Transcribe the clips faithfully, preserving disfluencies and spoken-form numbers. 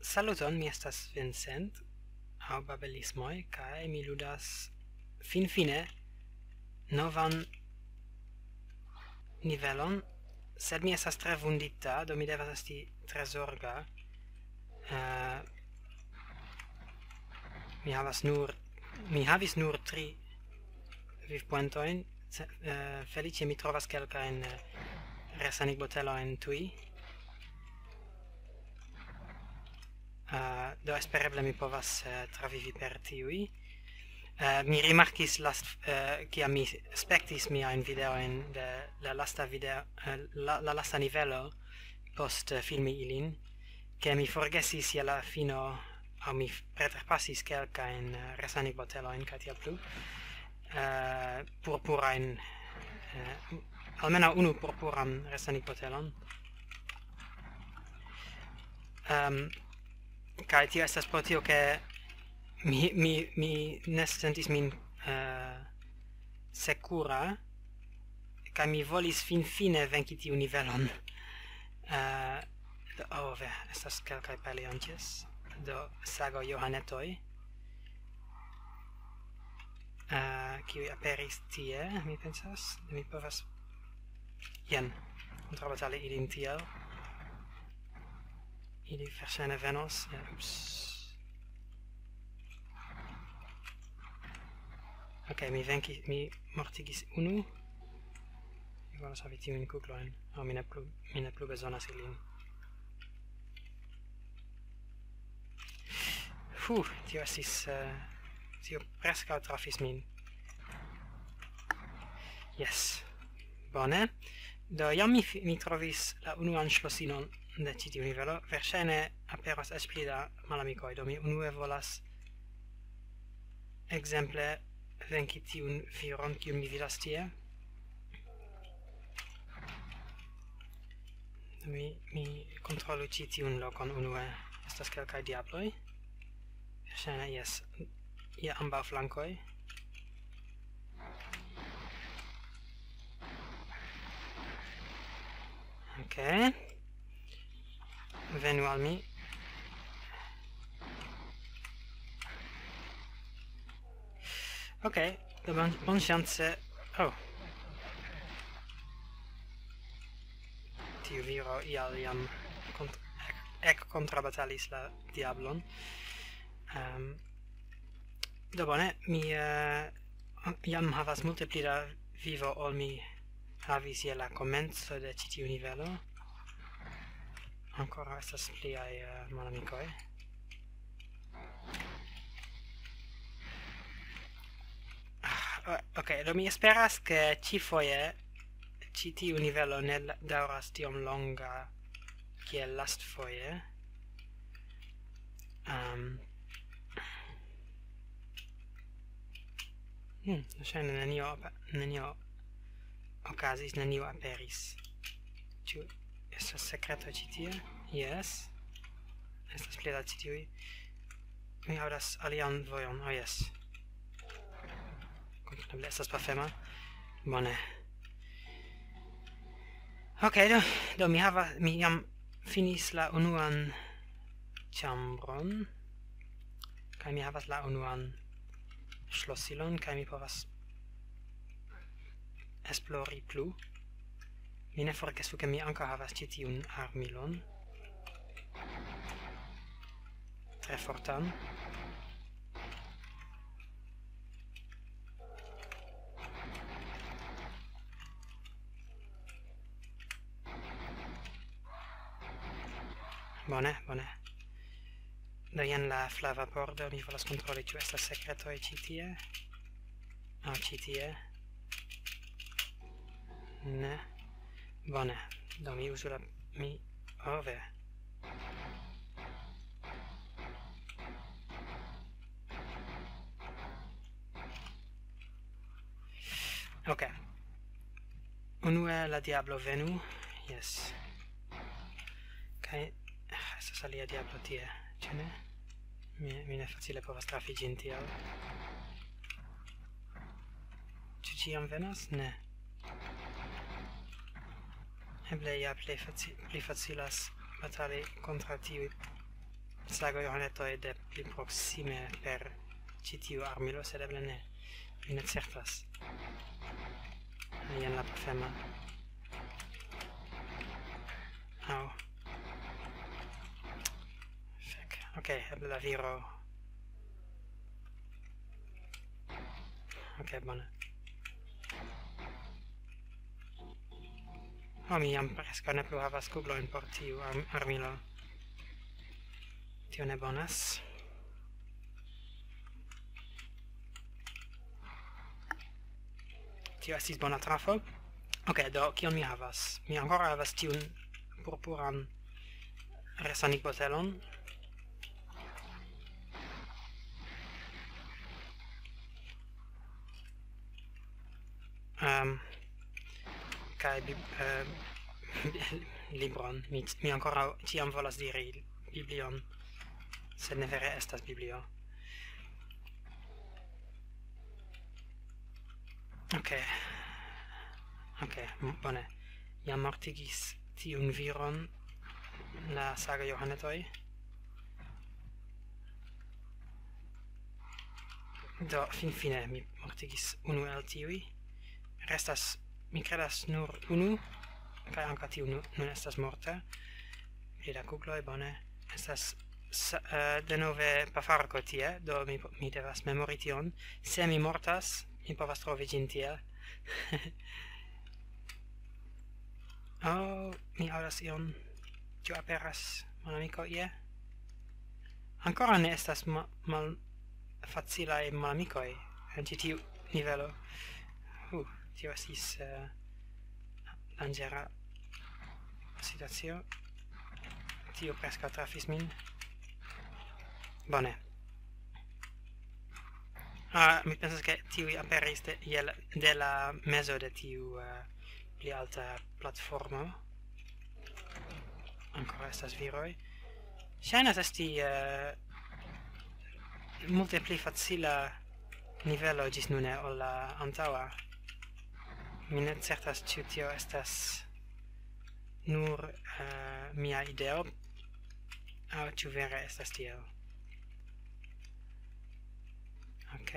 Saluton, mi estas Vincent, aŭ Babelismoj, kaj mi ludas finfine novan nivelon, sed mi estas tre vundita, do mi devas esti tre zorga. Eh, mi havas nur, mi havis nur tri vivpuentojn. Ce-, eh, feliĉe mi trovas kelkajn, eh, resanigbotelojn tuj. Eh, do espereble mi povas, eh, travivi per tiuj. Eh, mi rimarkis last-, eh, kiam mi spektis miajn videojn de la lasta video, eh, la, la lasta nivelo post, eh, filmi ilin, ke mi forgesis je la fino, aŭ mi f-, preterpasis kelkajn, eh, resanigbotelojn kaj tiel plu. Eh, purpurajn, eh, almenaŭ unu purpuran resanigbotelon. Ehm, kaj tio estas pro tio, ke mi, mi, mi ne sentis min, eh, sekura, kaj mi volis finfine venki tiun nivelon. Eh, do, oh, ve, estas kelkaj paleontes. Do, sago Johanetoj, eh, kiuj aperis tie, mi pensas. Mi povas, jen, kontraŭbatali ilin tiel. Ili verŝajne venos. Ja, ups. Ok, mi venki-, mi mortigis unu. Mi volas havi tiujn kuglojn. Oh, mi ne plu, mi ne plu bezonas ilin. Fu, tio estis, eh, tio preskaŭ trafis min. Yes. Bone. Do, jam mi fi-, mi trovis la unuan ŝlosinon de ĉi tiu nivelo. Verŝajne aperos eĉ pli da malamikoj. Do, mi unue volas, ekzemple, venki tiun viron, kiun mi vidas tie. Mi, mi kontrolu ĉi tiun lokon unue. Estas kelkaj diabloj. Verŝajne, jes. Je ambaŭ flankoj. Ok. Venu al mi. Ok, do bon, bonŝance. Oh. Tiu viro ial jam kont-, ek, ekkontrabatalis la diablon. Ehm, do bone, mi, eh, jam havas multe pli da vivo ol mi havis je la komenco de ĉi tiu nivelo. Ankoraŭ estas pliaj, eh, malamikoj. Ah, o-, ok, do mi esperas, ke ĉifoje ĉi tiu nivelo ne la-, daŭras tiom longa kiel lastfoje. Ehm, hmm, ŝajne nenio apa-, nenio okazis, nenio aperis. Ĉu estas sekreto ĉi tie? Jes. Estas pli da ĉi tiuj. Mi aŭdas alian vojon. Oh, jes. Kompreneble estas pafema. Bone. Ok, do, do mi hava-, mi jam finis la unuan ĉambron. Kaj mi havas la unuan ŝlosilon, kaj mi povas esplori plu. Mi ne forgesu, ke mi ankaŭ havas ĉi tiun armilon. Tre fortan. Bone, bone. Do jen la flava pordo, mi volas kontroli, ĉu estas sekretoj ĉi tie. Aŭ ĉi tie. Ne. Bone. Do mi uzu la, mi, oh, ve. Ok. Unue la diablo venu. Jes. Kaj, ah, estas alia diablo tie, ĉu ne? Mi, mi ne facile povas trafi ĝin tiel. Ĉu ĉiam venas? Ne. Eble ja plej faci-, pli facilas batali kontraŭ tiuj sago Johanetoj de pli proksime per ĉi tiu armilo, sed eble ne. Mi ne certas. Jen la pafema. Au. Fek. Ok, eble la viro. Ok, bone. Oh, mi jam preskaŭ ne plu havas kuglojn por tiu arm armilo. Tio ne bonas. Tio estis bona trafo. Ok, do kion mi havas? Mi ankoraŭ havas tiun purpuran resanigbotelon. Um, kaj bib um, libron. Mi, mi ankoraŭ ĉiam volas diri biblion, sed ne vere estas biblio. Ok. Ok, bone. Jam mortigis tiun viron la saga Johanetoj. Do, finfine mi mortigis unu el tiuj. Restas, mi credas, nur unu, kaj ankaŭ tiu nun estas morta. Pri la kugloj, bone. Estas uh, denove pafarko tie, do mi, mi devas memori tion. Se mi mortas, mi povas trovi ĝin tie. Oh, mi aŭdas ion. Ĉu aperas malamiko ie? Ankoraŭ ne estas ma mal facilaj malamikoj en ĉi tiu nivelo. Uh, tio estis uh, danĝera situacio. Tio preskaŭ trafis min. Bone. Ah, mi pensas, ke tiuj aperis de, de la mezo de tiu uh, pli alta platformo. Ankoraŭ estas viroj. Ŝajnas esti uh, multe pli facila nivelo ĝis nune ol la antaŭa. Mi ne certas, ĉu tio estas nur uh, mia ideo, aŭ ĉu vere estas tiel. Ok.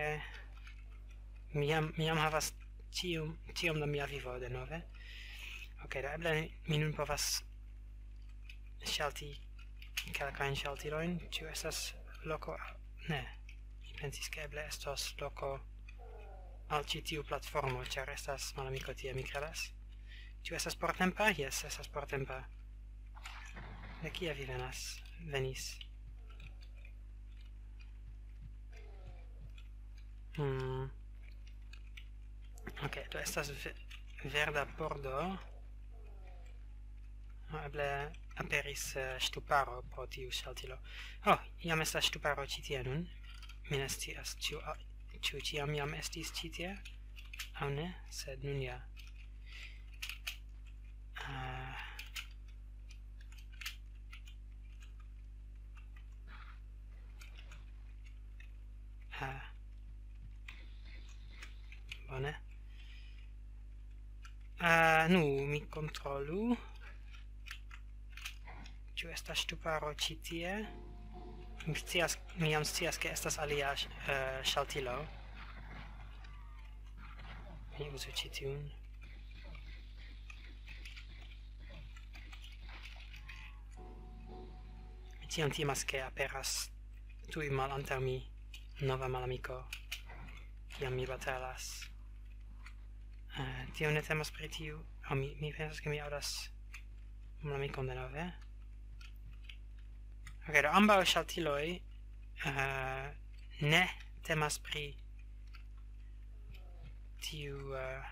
Mi jam, mi jam havas ĉiom, ĉiom da mia vivo denove. Ok, do eble mi nun povas ŝalti kelkajn ŝaltilojn. Ĉu estas loko? Ne. Mi pensis, ke eble estos loko al ĉi tiu platformo, ĉar estas malamiko tie, mi credas. Ĉu estas portempa? Jes, estas portempa. De kie vi venas? Venis. Hmm. Ok, do estas ve verda pordo. Oh, eble aperis uh, ŝtuparo pro tiu ŝaltilo. Oh, jam estas ŝtuparo ĉi tie nun. Mi ne scias, ĉu, uh, ĉu ĉiam jam estis ĉi tie, aŭ ne, sed nun ja. Uh, uh, bone. Uh, nu, mi kontrolu. Ĉu estas ŝtuparo ĉi tie? Mi scias, mi jam scias, ke estas alia uh, ŝaltilo. Mi uzu ĉi tiun. Mi tiam timas, ke aperas tuj malantaŭ mi nova malamiko, kiam mi batalas. Uh, tio ne temas pri tiu. Oh, mi, mi pensas, ke mi aŭdas malamikon denove. Ok, do ambaŭ ŝaltiloj uh, ne temas pri tiu uh,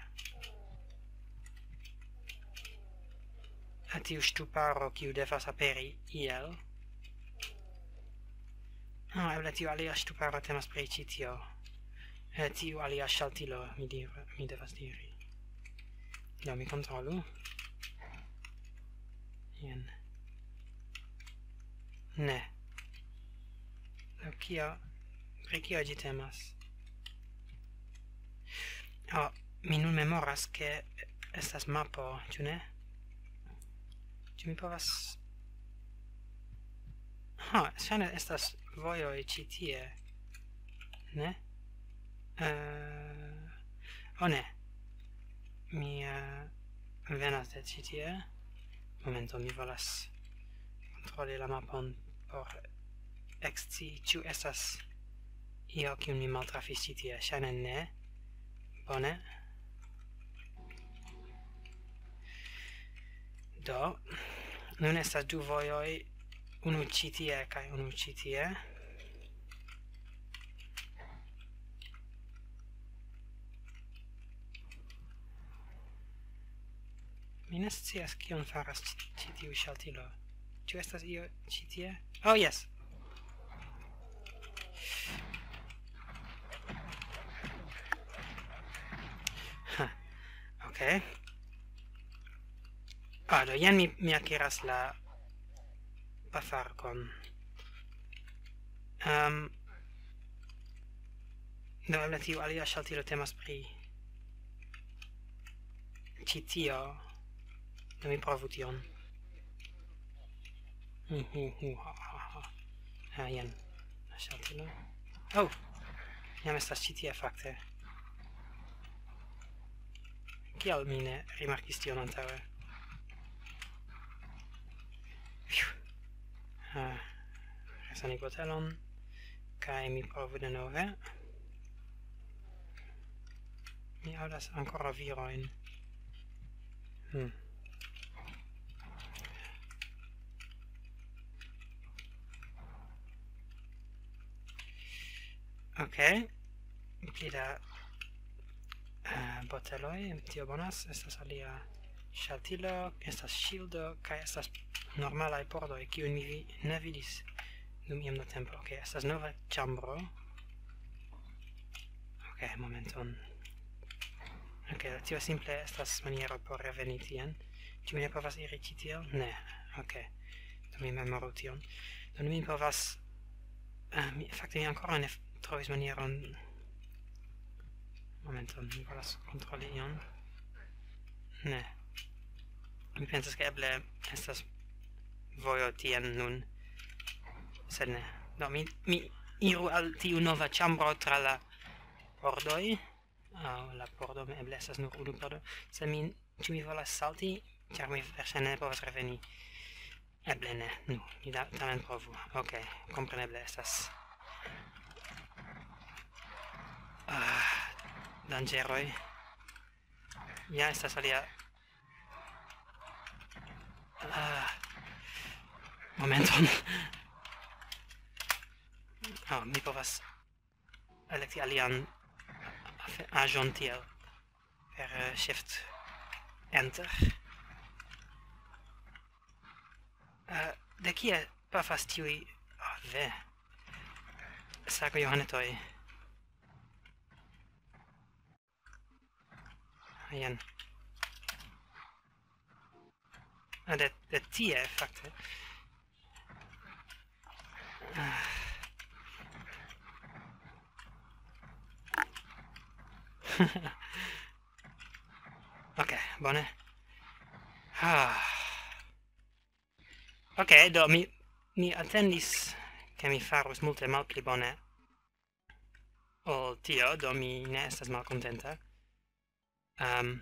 tiu ŝtuparo, kiu devas aperi iel. Ah, eble tiu alia ŝtuparo temas pri ĉi tio. Eh, tiu alia ŝaltilo, mi, dir, mi devas diri. Do mi kontrolu. Jen. Ne. Do kio, pri kio ĝi temas? Oh, mi nun memoras, ke estas mapo, ĉu ne? Ĉu mi povas... Ha, ŝajne estas vojoj ĉi tie. Ne? Uh, oh ne. Mi uh, venas de ĉi tie. Momento, mi volas kontroli la mapon por ekscii, ĉu estas io, kiun mi maltrafis ĉi tie. Ŝajne ne. Bone. Do, nun estas du vojoj, unu ĉi tie kaj unu ĉi tie. Mi ne scias, kion faras ĉi, ĉi tiu ŝaltilo. Ĉu estas io ĉi tie? Oh, yes! Ha, ok. Ah, do jen mi, mi akiras la pafarkon. Um, do eble tiu alia ŝaltilo temas pri ĉi tio. Do mi provu tion. Hu, hu, hu, ha, ha, ha. Ah, jen. La ŝaltilo. Oh! Jam estas ĉi tie, fakte. Kial mi ne rimarkis tion antaŭe? Fiu. Ah, resani botelon. Kaj mi provu denove. Mi aŭdas ankoraŭ virojn. Hmm. Ok. Pli da eh, boteloj, tio bonas. Estas alia ŝaltilo, estas ŝildo, kaj estas normalaj pordoj, kiujn mi vi-, ne vidis dum iom da tempo. Ok, estas nova ĉambro. Ok, momenton. Ok, tio simple estas maniero por reveni tien. Ĉu mi ne povas iri ĉi tiel? Ne. Ok. Do mi memoru tion. Do mi povas... ah, mi, fakte mi ankoraŭ ne f-, trovis manieron. Momenton, mi volas kontroli ion. Ne. Mi pensas, ke eble estas vojo tien nun. Sed ne. Do mi, mi iru al tiu nova ĉambro tra la pordoj. Aŭ la pordo, eble estas nur unu pordo. Sed mi, ĉu mi volas salti? Ĉar mi verŝajne ne povas reveni. Eble ne. Nu, mi da-, tamen provu. Ok, kompreneble estas. Ah, danĝeroj. Ja estas alia. Ah, momenton. Oh, mi povas elekti alian afe-, aĵon tiel per eh, Shift Enter. Eh, de kie pafas tiuj... Oh, ve. Sago Johanetoj. Jen. Ah, de, de tie, fakte. Ah. Ok, bone. Ah. Ok, do mi, mi atendis, ke mi farus multe malpli bone ol tio, do mi ne estas malkontenta. Um,